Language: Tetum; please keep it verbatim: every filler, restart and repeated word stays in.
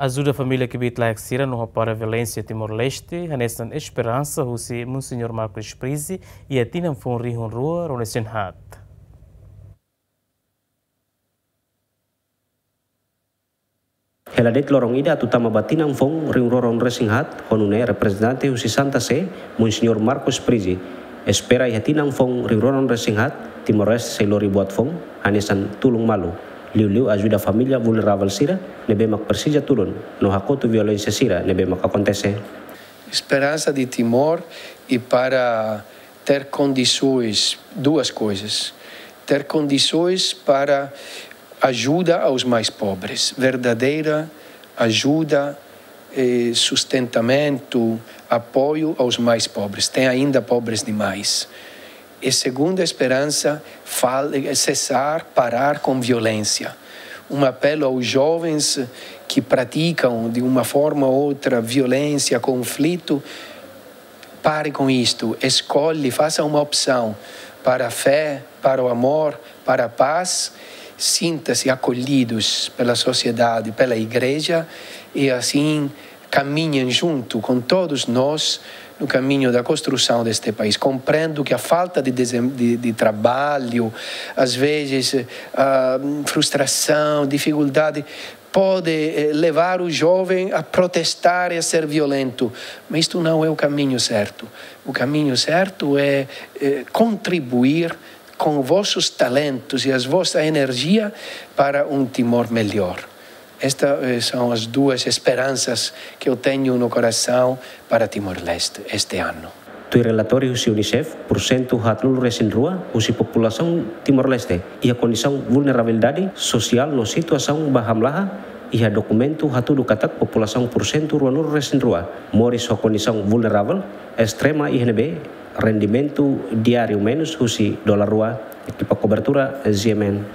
Ajuda família kbiit-laek sira no hapara violénsia Timor-Leste, hanesan esperansa husi Monseñór Marco Sprizi iha tinan foun rihun rua ruanulu-resin-haat. Hela de'it loron ida atu tama ba tinan foun rihun rua ruanulu-resin-haat, ho nune'e reprezentante husi Santa Sé, Monseñór Marco Sprizi, espera iha tinan foun rihun rua ruanulu-resin-haat, Timor-Leste sei lori buat foun, hanesan tulun malu. Liuliu ajuda família vulneravel sira ne'ebé mak presiza tulun, no hakotu violénsia sira ne'ebé mak akontese. Esperança de Timor e para ter condições, duas coisas. Ter condições para ajuda aos mais pobres, verdadeira ajuda, eh, sustentamento, apoio aos mais pobres. Tem ainda pobres demais. E segunda esperança, fal-, é cessar, parar com violência. Um apelo aos jovens que praticam, de uma forma ou outra, violência, conflito, pare com isto, escolhe, faça uma opção para a fé, para o amor, para a paz, sinta-se acolhidos pela sociedade, pela igreja, e assim caminhem junto com todos nós no caminho da construção deste país. Compreendo que a falta de desem-, de, de trabalho, às vezes, a frustração, dificuldade, pode, eh, levar o jovem a protestar e a ser violento. Mas isto não é o caminho certo. O caminho certo é, eh, contribuir com vossos talentos e as vossa energia para um Timor melhor. Estas, eh, são as duas esperanças que eu tenho no coração para Timor-Leste este ano. Tuir relatóriu husi UNICEF, pursentu haatnulu-resin-rua husi populasaun Timor-Leste iha kondisaun vulnerabilidade sosiál no situasaun ba hamlaha, iha dokumentu hatudu katak populasaun pursentu ruanulu-resin-rua moris ho kondisaun vulneravel estrema iha ne'ebé rendimentu diáriu menus husi dolar rua. Ekipa kobertura, G M N.